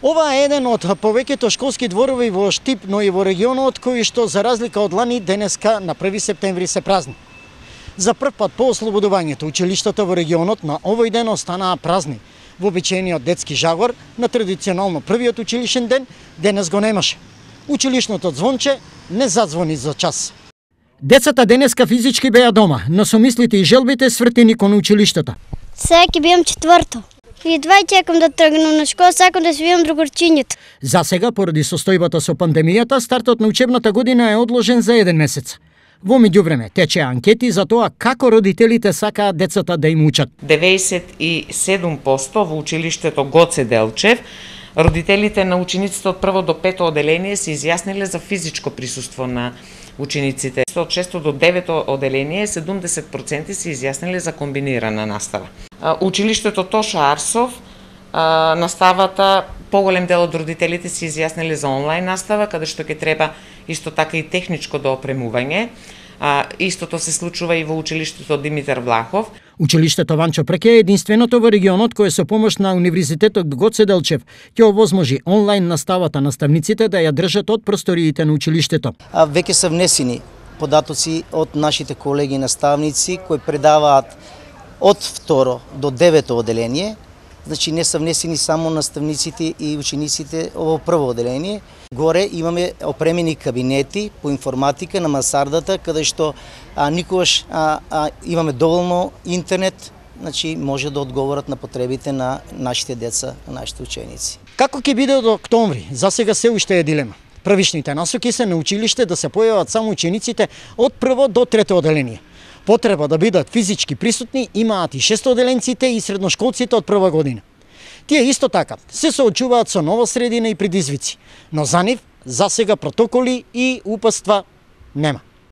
Ова е еден од повеќето школски дворови во Штип, но и во регионот, кои што за разлика од лани денеска на 1 септември се празни. За прв пат по ослободувањето училиштата во регионот на овој ден останаа празни. Вообичаениот детски жагор на традиционално првиот училишен ден денес го немаше. Училишното звонче не зазвони за час. Децата денеска физички беа дома, но со мислите и желбите свртени кон училиштата. Сега ќе биам четврто. И едва чекам да тргнам на школа, сакам да се видам другорчињето. За сега, поради состојбата со пандемијата, стартот на учебната година е одложен за 1 месец. Во меѓувреме тече анкети за тоа како родителите сакаат децата да им учат. 97% во училиштето Гоце Делчев родителите на учениците од 1 до 5 оделение се изјасниле за физичко присуство на учениците. Од 6 до 9 оделение 70% се изјасниле за комбинирана настава. Училиштето Тоша Арсов, наставата, поголем дел од родителите се изјасниле за онлайн настава, каде што ќе треба исто така и техничко доопремување. Истото се случува и во училиштето Димитар Влахов. Училиштето Ванчо Преке е единственото во регионот кое со помош на Универзитетот Гоце Делчев ќе овозможи онлайн наставата наставниците да ја држат од просториите на училиштето. Веќе се внесени податоци од нашите колеги наставници кои предаваат од 2 до 9 оделение. Значи не се внесени само наставниците и учениците во прво оделение. Горе имаме опремени кабинети по информатика на мансардата, каде што никогаш имаме доволно интернет, значи може да одговорат на потребите на нашите деца, на нашите ученици. Како ќе биде до октомври? За сега се уште е дилема. Првичните насоки се на училиште да се појават само учениците од 1 до 3 оделение. Потреба да бидат физички присутни имаат и 6-оделенците и средношколците од прва година. Тие исто така се соочуваат со нова средина и предизвици, но за нив за сега протоколи и упатства нема.